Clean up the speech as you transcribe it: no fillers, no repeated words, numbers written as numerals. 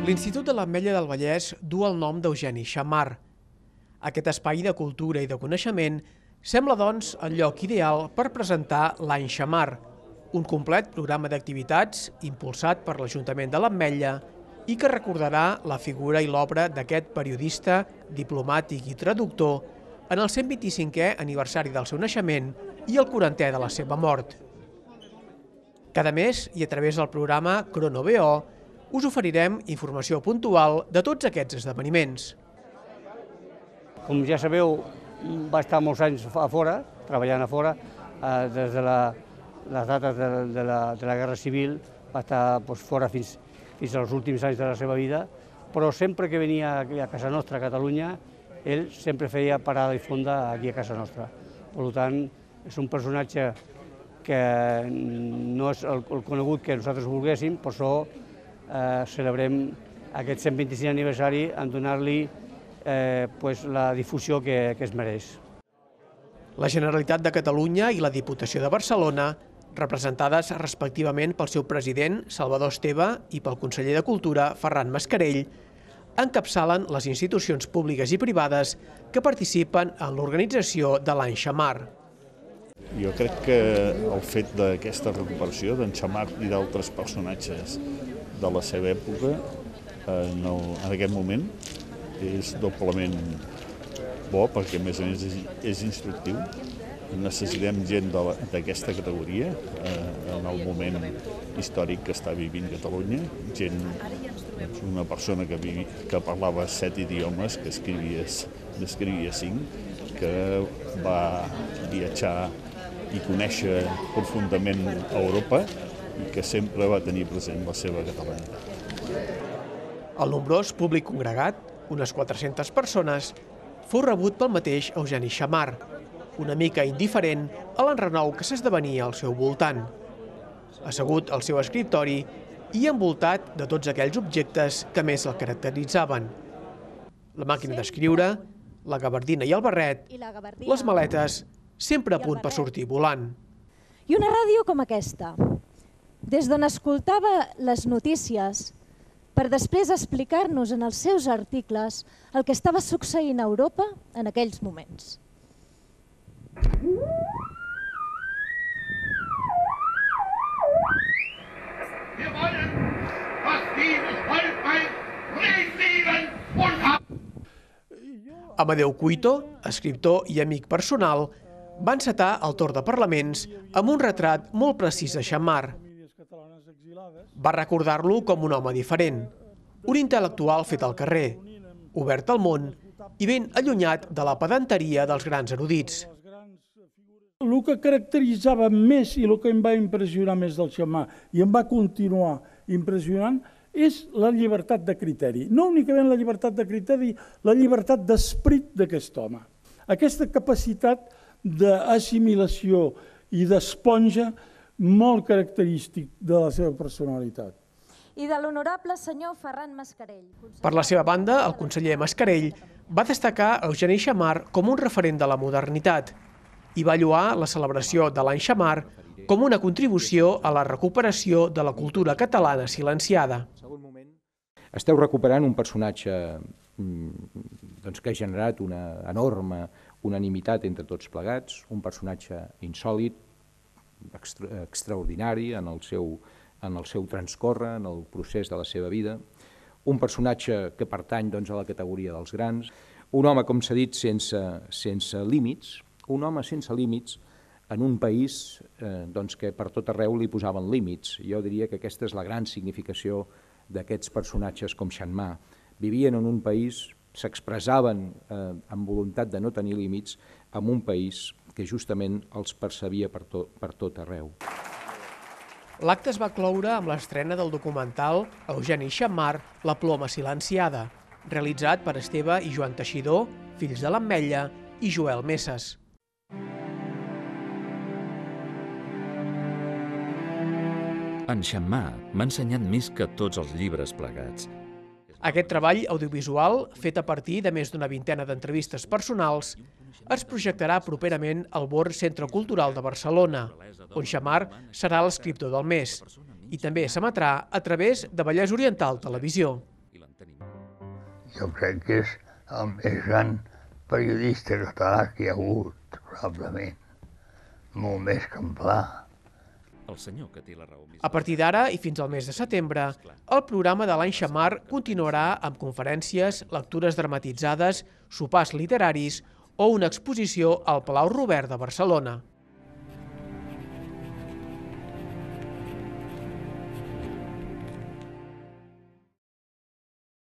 L'Institut de l'Ametlla del Vallès du el nom d'Eugeni Xammar. Aquest espai de cultura i de coneixement sembla, doncs, el lloc ideal per presentar l'Any Xammar, un complet programa d'activitats impulsat per l'Ajuntament de l'Ametlla i que recordarà la figura i l'obra d'aquest periodista, diplomàtic i traductor en el 125è aniversari del seu naixement i el 40è de la seva mort. Cada mes, i a través del programa Crono BO, us oferirem informació puntual de tots aquests esdeveniments. Com ja sabeu, va estar molts anys a fora, treballant a fora, des de les dates de la Guerra Civil, va estar fora fins als últims anys de la seva vida, però sempre que venia a casa nostra, a Catalunya, ell sempre feia parada i fonda aquí a casa nostra. Per tant, és un personatge que no és el conegut que nosaltres volguéssim, per això celebrem aquest 125è aniversari en donar-li la difusió que es mereix. La Generalitat de Catalunya i la Diputació de Barcelona, representades respectivament pel seu president, Salvador Esteve, i pel conseller de Cultura, Ferran Mascarell, encapçalen les institucions públiques i privades que participen en l'organització de l'Any Xammar. Jo crec que el fet d'aquesta recuperació d'en Xammar i d'altres personatges de la seva època en aquest moment és doblement bo, perquè a més és instructiu. Necessitem gent d'aquesta categoria en el moment històric que està vivint Catalunya, una persona que parlava 7 idiomes, que n'escrivia 5, que va viatjar i conèixer profundament Europa i que sempre va tenir present la seva catalanitat. El nombrós públic congregat, unes 400 persones, fou rebut pel mateix Eugeni Xammar, una mica indiferent a l'enrenou que s'esdevenia al seu voltant. Assegut al seu escriptori i envoltat de tots aquells objectes que més el caracteritzaven. La màquina d'escriure, la gabardina i el barret, les maletes, sempre a punt per sortir volant. I una ràdio com aquesta, des d'on escoltava les notícies, per després explicar-nos en els seus articles el que estava succeint a Europa en aquells moments. Amadeu Cuito, escriptor i amic personal, va encetar el torn de parlaments amb un retrat molt precís de Xammar. Va recordar-lo com un home diferent, un intel·lectual fet al carrer, obert al món i ben allunyat de la pedanteria dels grans erudits. El que caracteritzava més i el que em va impressionar més del Xammar i em va continuar impressionant és la llibertat de criteri. No únicament la llibertat de criteri, la llibertat d'esperit d'aquest home. Aquesta capacitat d'assimilació i d'esponja molt característic de la seva personalitat. I de l'honorable senyor Ferran Mascarell. Per la seva banda, el conseller Mascarell va destacar Eugeni Xammar com un referent de la modernitat i va lloar la celebració de l'Any Xammar com una contribució a la recuperació de la cultura catalana silenciada. Esteu recuperant un personatge que ha generat una enorme unanimitat entre tots plegats, un personatge insòlit, extraordinari en el seu transcórrer, en el procés de la seva vida, un personatge que pertany a la categoria dels grans, un home, com s'ha dit, sense límits, un home sense límits en un país que per tot arreu li posaven límits. Jo diria que aquesta és la gran significació d'aquests personatges com Xammar. Vivien en un país, s'expressaven amb voluntat de no tenir límits, en un país que justament els percebia per tot arreu. L'acte es va cloure amb l'estrena del documental Eugeni Xammar, La ploma silenciada, realitzat per Esteve i Joan Teixidor, fills de l'Ametlla, i Joel Messes. En Xammar m'ha ensenyat més que tots els llibres plegats. Aquest treball audiovisual, fet a partir de més d'una vintena d'entrevistes personals, es projectarà properament al Born Centre Cultural de Barcelona, on Xammar serà l'escriptor del mes, i també s'emetrà a través de Vallès Oriental Televisió. Jo crec que és el més gran periodista català que hi ha hagut, probablement. Molt més que en Pla. A partir d'ara i fins al mes de setembre, el programa de l'Any Xammar continuarà amb conferències, lectures dramatitzades, sopars literaris o una exposició al Palau Robert de Barcelona.